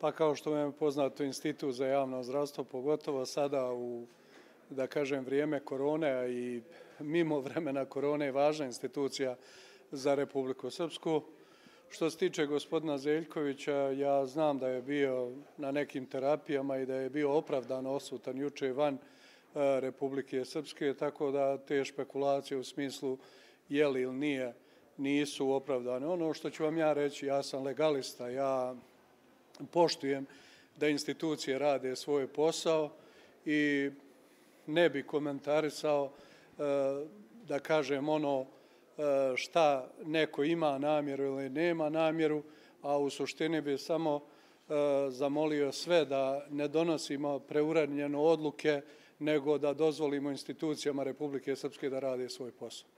Pa kao što vam je poznato, Institut za javno zdravstvo, pogotovo sada u, da kažem, vrijeme korone i mimo vremena korone je važna institucija za Republiku Srpsku. Što se tiče gospodina Zeljkovića, ja znam da je bio na nekim terapijama i da je bio opravdano odsutan juče van Republike Srpske, tako da te špekulacije u smislu je li ili nije nisu opravdane. Ono što ću vam ja reći, ja sam legalista, ja poštujem da institucije rade svoj posao i ne bi komentarisao, da kažem, ono šta neko ima namjeru ili nema namjeru, a u suštini bi samo zamolio sve da ne donosimo preuranjene odluke, nego da dozvolimo institucijama Republike Srpske da rade svoj posao.